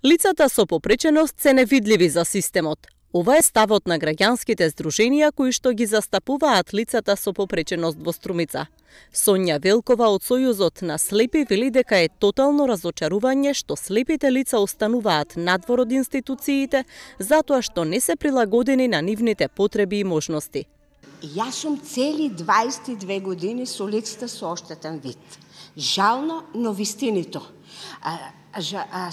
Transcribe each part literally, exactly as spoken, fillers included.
Лицата со попреченост се невидливи за системот. Ова е ставот на граѓанските здруженија кои што ги застапуваат лицата со попреченост во Струмица. Сонја Велкова од Сојузот на слепи вели дека е тотално разочарување што слепите лица остануваат надвор од институциите затоа што не се прилагодени на нивните потреби и можности. Јас сум цели дваесет и две години со лицата со оштетен вид. Жално, но вистинито. А, а, а,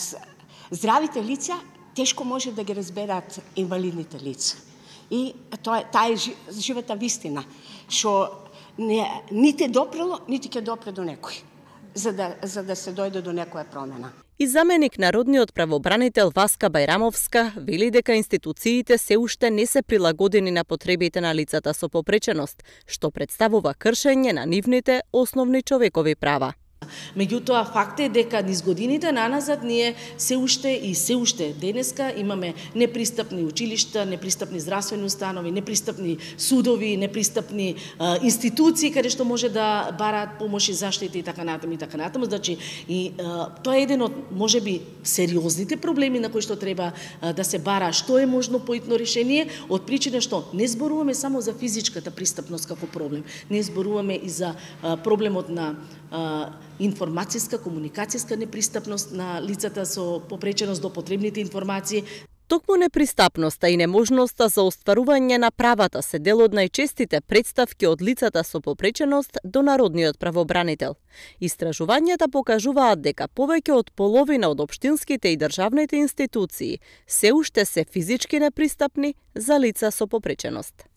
здравите лица тешко може да ги разберат инвалидните лица. И тоа, таа е живата вистина, што не, нити допрело, нити ќе допре до некој, за да, за да се дојде до некоја промена. И заменик народниот правобранител Васка Бајрамовска вели дека институциите се уште не се прилагодени на потребите на лицата со попреченост, што представува кршење на нивните основни човекови права. Меѓутоа, факт е дека низ годините наназад ние се уште и се уште денеска имаме непристапни училишта, непристапни здравствени установи, непристапни судови, непристапни а, институции каде што може да бараат помош и заштита и така натаму и така натаму. Значи, и а, тоа е еден од можеби сериозните проблеми на кои што треба а, да се бара што е можно поитно решение, од причина што не зборуваме само за физичката пристапност како проблем, не зборуваме и за а, проблемот на а, информацијска, комуникацијска непристапност на лицата со попреченост до потребните информации. Токму непристапноста и неможноста за остварување на правата се дел од најчестите представки од лицата со попреченост до народниот правобранител. Истражувањата покажуваат дека повеќе од половина од општинските и државните институции се уште се физички непристапни за лица со попреченост.